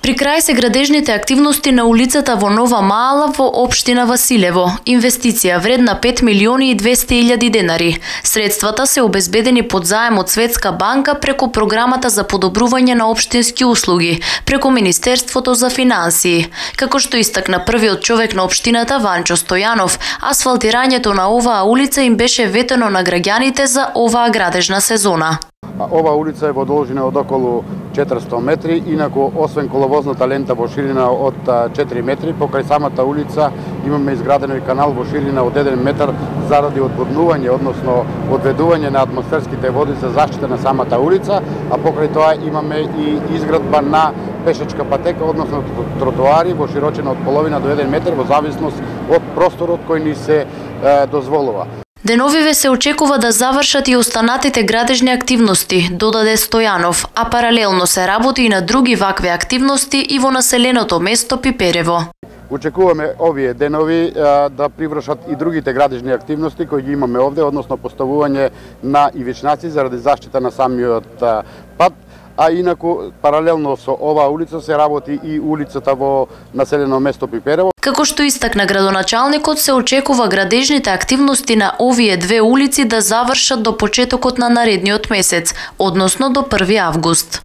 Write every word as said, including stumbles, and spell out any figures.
При крај се градежните активности на улицата во Нова Маала во општина Василево. Инвестиција вредна пет милиони и двесте илјади денари. Средствата се обезбедени под заем од Светска банка преку програмата за подобрување на општински услуги, преку Министерството за финансии. Како што истакна првиот човек на општината Ванчо Стојанов, асфалтирањето на оваа улица им беше ветено на граѓаните за оваа градежна сезона. Ова улица е во должина од околу четиристо метри, инаку освен коловозната лента во ширина од четири метри, покрај самата улица имаме изградено и канал во ширина од еден метар заради одводнување, односно одведување на атмосферските води за заштита на самата улица, а покрај тоа имаме и изградба на пешачка патека, односно тротоари во широчина од половина до еден метар во зависност од просторот кој ни се е, дозволува. Деновиве се очекува да завршат и останатите градежни активности, додаде Стојанов, а паралелно се работи и на други вакви активности и во населеното место Пиперево. Очекуваме овие денови а, да привршат и другите градежни активности кои ги имаме овде, односно поставување на ивичнаци заради заштита на самиот а, пат, а инаку паралелно со оваа улица се работи и улицата во населено место Пиперево. Како што истакна градоначалникот, се очекува градежните активности на овие две улици да завршат до почетокот на наредниот месец, односно до први август.